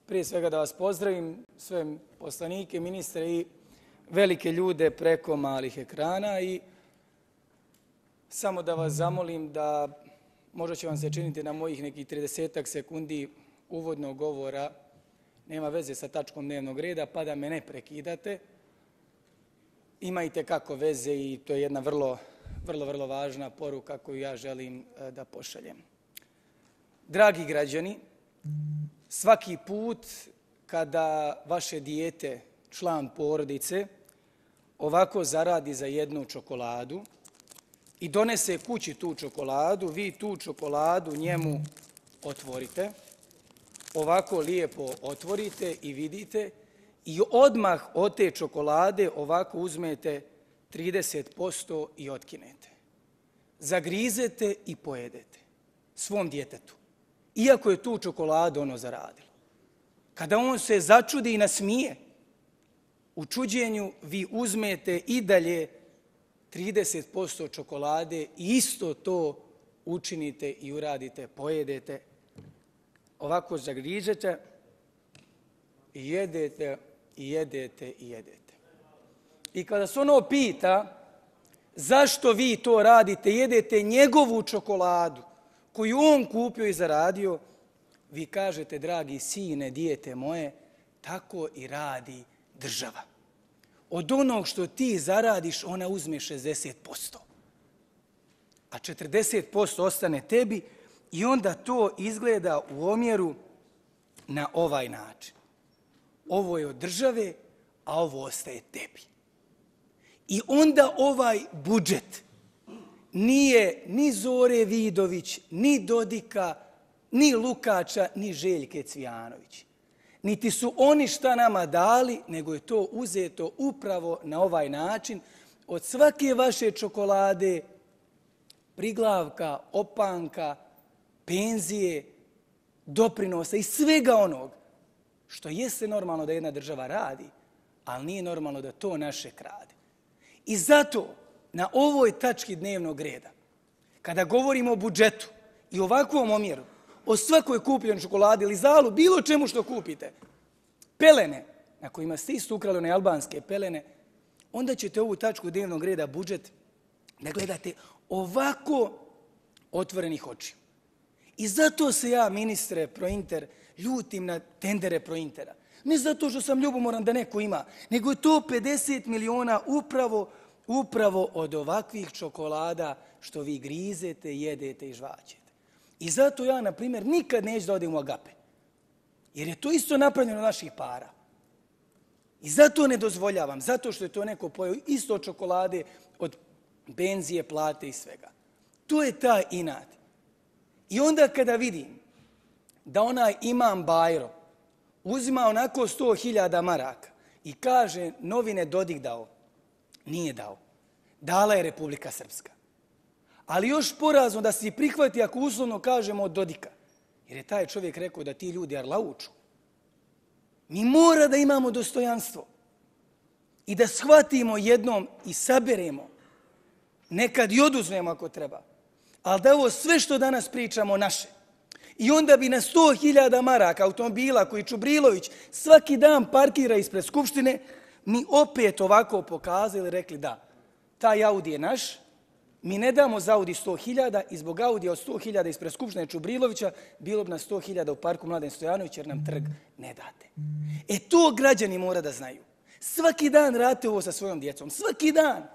prije svega da vas pozdravim, sve poslanike, ministre i velike ljude preko malih ekrana i samo da vas zamolim da možda će vam se činiti na mojih nekih 30 sekundi uvodnog govora, nema veze sa tačkom dnevnog reda, pa da me ne prekidate. Imajte kako veze i to je jedna vrlo važna poruka koju ja želim da pošaljem. Dragi građani, svaki put kada vaše dijete, član porodice, ovako zaradi za jednu čokoladu i donese kući tu čokoladu, vi tu čokoladu njemu otvorite, ovako lijepo otvorite i vidite i odmah od te čokolade ovako uzmete 30% i otkinete. Zagrizete i pojedete svom djetetu, iako je tu čokoladu ono zaradilo. Kada on se začudi i nasmije, u čuđenju vi uzmete i dalje 30% čokolade i isto to učinite i uradite, pojedete. Ovako zagrižete i jedete, i jedete, i jedete. I kada se ono pita zašto vi to radite, jedete njegovu čokoladu koju on kupio i zaradio, vi kažete, dragi sine, dijete moje, tako i radi država. Od onog što ti zaradiš, ona uzme 60%. A 40% ostane tebi i onda to izgleda u omjeru na ovaj način. Ovo je od države, a ovo ostaje tebi. I onda ovaj budžet nije ni Zore Vidović, ni Dodika, ni Lukača, ni Željke Cvijanović. Niti su oni šta nama dali, nego je to uzeto upravo na ovaj način od svake vaše čokolade, priglavka, opanka, penzije, doprinosa i svega onog što jeste normalno da jedna država radi, ali nije normalno da to naše krade. I zato na ovoj tački dnevnog reda, kada govorimo o budžetu i ovakvom omjeru, o svakoj kupljenoj čokoladi ili zalu, bilo čemu što kupite, pelene, na kojima ste isto ukrali one albanske pelene, onda ćete ovu tačku dnevnog reda budžet da gledate ovako otvorenih očiju. I zato se ja, ministre Prointer, ljutim na tendere Prointera. Ne zato što sam ljubomoran da neko ima, nego je to 50 miliona upravo od ovakvih čokolada što vi grizete, jedete i žvaćete. I zato ja, na primjer, nikad neću da odem u Agape. Jer je to isto napravljeno naših para. I zato ne dozvoljavam, zato što je to neko pojeo isto od čokolade, od benzije, plate i svega. To je taj inat. I onda kada vidim da onaj imam Bajro uzima onako 100.000 maraka i kaže novine Dodik dao, nije dao. Dala je Republika Srpska. Ali još porazno da se prihvati ako uslovno kažemo od Dodika. Jer je taj čovjek rekao da ti ljudi arlauču. Mi mora da imamo dostojanstvo. I da shvatimo jednom i saberemo. Nekad i oduzmemo ako treba. Ali da ovo sve što danas pričamo naše. I onda bi na 100.000 maraka automobila koji Čubrilović svaki dan parkira ispred Skupštine, mi opet ovako pokazali, rekli da, taj Audi je naš, mi ne damo za Audi 100.000 i zbog Audija od 100.000 ispred Skupštine Čubrilovića bilo bi na 100.000 u parku Mladen Stojanović jer nam trg ne date. E to građani mora da znaju. Svaki dan radite ovo sa svojom djecom. Svaki dan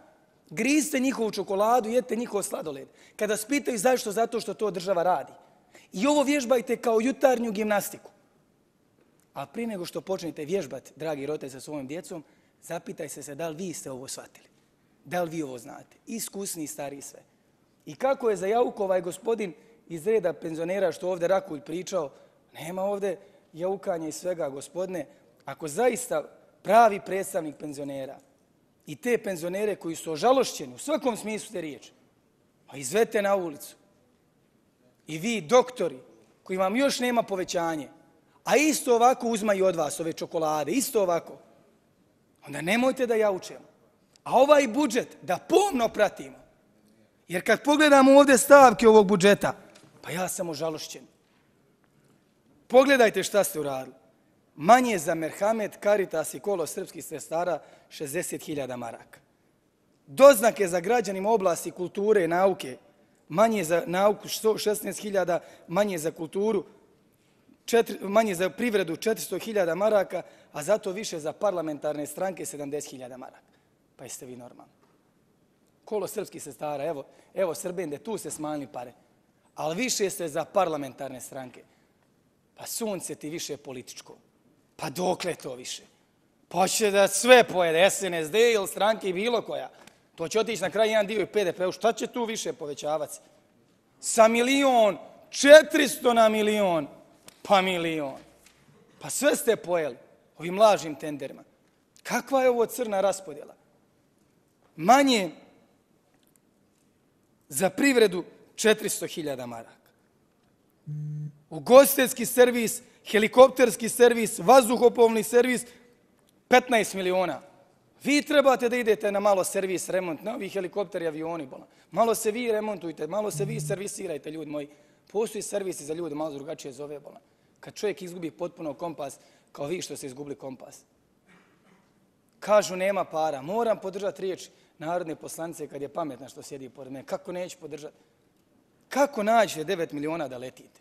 grizite njihovu čokoladu, jedite njihov sladoled. Kada spitaju zašto, zato što to država radi. I ovo vježbajte kao jutarnju gimnastiku. A prije nego što počnete vježbati, dragi roditelji, sa svojom djecom, zapitajte se da li vi ste ovo shvatili. Da li vi ovo znate? Iskusni, stari, sve. I kako je za jauku ovaj gospodin iz reda penzionera što ovdje Rakulj pričao, nema ovdje jaukanja i svega, gospodine. Ako zaista pravi predstavnik penzionera i te penzionere koji su ožalošćeni u svakom smislu te riječi, pa izvedite na ulicu. I vi, doktori, koji vam još nema povećanje, a isto ovako uzmaju od vas ove čokolade, isto ovako, onda nemojte da jaučemo. A ovaj budžet da pomno pratimo. Jer kad pogledamo ovdje stavke ovog budžeta, pa ja sam ožalošćen. Pogledajte šta ste uradili. manje za Merhamet, Caritas i Kolo srpskih sestara 60.000 maraka. Doznake za građanima oblasti kulture i nauke, manje za nauku 16.000, manje za kulturu, manje za privredu 400.000 maraka, a zato više za parlamentarne stranke 70.000 maraka. Pa jeste vi normalni. Kolo srpskih sestara, evo Srbende, tu se smanjili pare, ali više ste za parlamentarne stranke. Pa sunce ti više političko. Pa dokle to više? Pa će da sve pojede, SNSD ili stranke i bilo koja. To će otići na kraj jedan dio i PDP-u. Šta će tu više povećavati? Sa 1.400.000 na milion. Pa milion. Pa sve ste pojeli ovim lažnim tenderima. Kakva je ovo crna raspodjela? Manje za privredu 400.000 maraka. Ugostiteljski servis, helikopterski servis, vazduhoplovni servis 15 miliona. Vi trebate da idete na malo servis, remont, na ovi helikopteri, avioni. Malo se vi remontujte, malo se vi servisirajte, ljudi moji. Postoji servisi za ljude, malo drugačije zove. Kad čovjek izgubi potpuno kompas, kao vi što ste izgubili kompas. Kažu nema para, moram podržati riječ narodne poslanice kad je pametna što sjedi pored mene. Kako neću podržati? Kako nađete 9 miliona da letite?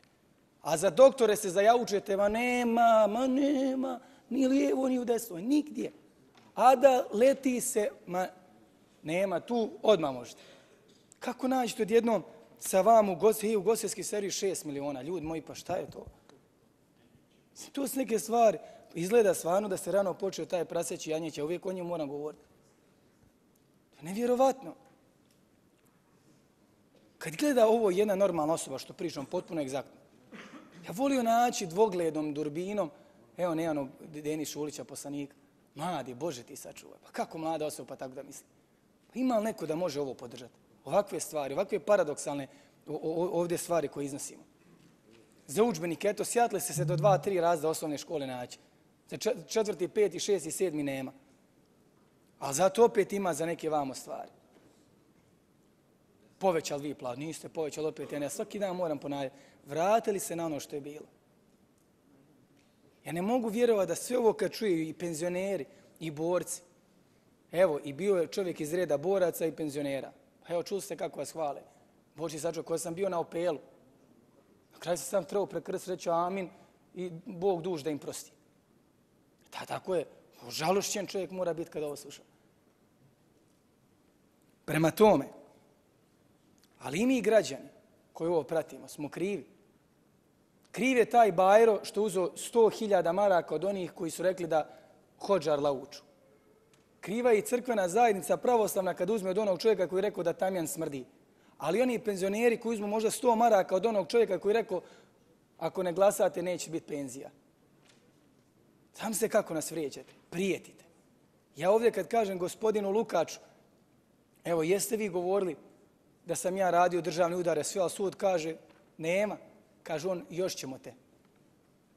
A za doktore se zajaučujete, ma nema, ni lijevo, ni u desno, nigdje. A da leti se, ma nema, tu odmah možete. Kako nađete odjednom sa vam u ugostiteljski servis 6 miliona? Ljudi moji, pa šta je to? To su neke stvari. Izgleda stvarno da se rano počeo taj praseći janjić, a uvijek o njemu moram govoriti. To je nevjerovatno. Kad gleda ovo jedna normalna osoba, što pričam potpuno egzaktno, ja volio naći dvogledom, durbinom, evo nejanog Denis Šulića, poslanika. Mladi, Bože ti sačuvaj. Pa kako mlada osoba pa tako da misli? Pa ima li neko da može ovo podržati? Ovakve stvari, ovakve paradoksalne ovdje stvari koje iznosimo. Za udžbenike, eto, sjatli ste se do 2-3 razda osnovne škole naći. Za 4., 5., 6. i 7. nema. Ali zato opet ima za neke vamo stvari. Povećali vi plaću, niste povećali opet. Ja svaki dan moram ponavljati. Vratili se na ono što je bilo. Ja ne mogu vjerovati da sve ovo kad čuju i penzioneri i borci. Evo, i bio je čovjek iz reda boraca i penzionera. Pa evo, čuli ste kako vas hvale. Boži sačuvaj, koji sam bio na Opelu. Na kraju sam sam trebao prekrst reći amin i Bog duž da im prosti. Tako je. Žalošćen čovjek mora biti kada ovo sluša. Prema tome, ali i mi građani koji ovo pratimo smo krivi. Kriv je taj Bajro što uzeo 100.000 maraka od onih koji su rekli da Hodžar lauču. Kriva je i crkvena zajednica pravoslavna kad uzme od onog čovjeka koji je rekao da tamjan smrdi. Ali oni penzioneri koji uzmu možda 100 maraka od onog čovjeka koji je rekao ako ne glasate neće biti penzija. Znam se kako nas vrijeđate, prijetite. Ja ovdje kad kažem gospodinu Lukaču, evo jeste vi govorili da sam ja radio državne udare, sve, ali sud kaže nema. Kaže on, još ćemo te.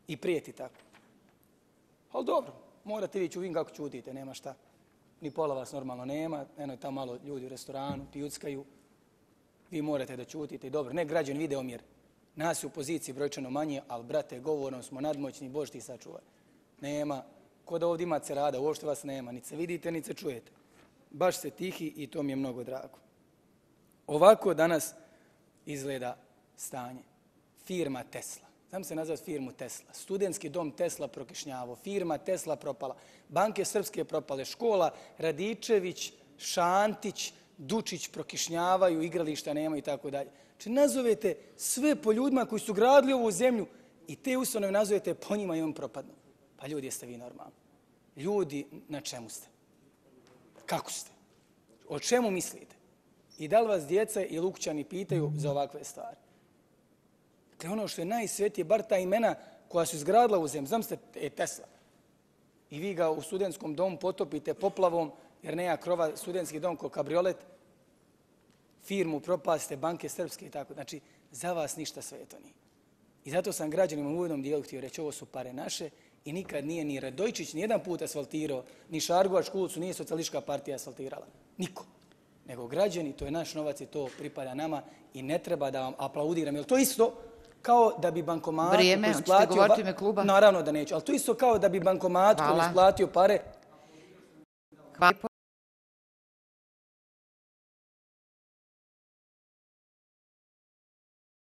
I prijeti tako. Ali dobro, morate vi vidim kako čutite, nema šta. Ni pola vas normalno nema, eno je tamo malo ljudi u restoranu, pijuckaju. Vi morate da čutite i dobro. Ne, građani vide omjer. Nas je u poziciji brojčano manje, ali brate, govorom smo nadmoćni, Bož ti sačuvaj. Nema, ko da ovdje ima cerada, uopšte vas nema, ni se vidite, ni se čujete. Baš ste tihi i to mi je mnogo drago. Ovako danas izgleda stanje. Firma Tesla. Znam se nazvati firmu Tesla. Studentski dom Tesla prokišnjavo. Firma Tesla propala. Banke srpske propale. Škola Radičević, Šantić, Dučić prokišnjavaju, igrališta nema i tako dalje. Znači nazovete sve po ljudima koji su gradili ovu zemlju i te ustanove nazovete po njima i on propadnu. Pa ljudi, jeste vi normalni? Ljudi, na čemu ste? Kako ste? O čemu mislite? I da li vas djeca i lukćani pitaju za ovakve stvari? Dakle, ono što je najsvetije, bar ta imena koja su izgradila u zemlju, znam ste Tesla. I vi ga u studentskom domu potopite poplavom, jer nema krova, studentski dom ko kabriolet, firmu propasite, banke srpske i tako. Znači, za vas ništa sveto nije. I zato sam građanima u uvodnom dijelu htio reći, ovo su pare naše i nikad nije ni Radojčić ni jedan put asfaltirao, ni Šargovačku ulicu nije socijalistička partija asfaltirala. Niko. Nego građani, to je naš novac i to pripada nama i ne treba da vam aplaudiram. Jer to isto kao da bi bankomatu Vrijeme, koji hoćete isplatio... govoriti u ime kluba? Naravno da neću, ali to isto kao da bi bankomatu koji Hvala. isplatio pare... Hvala.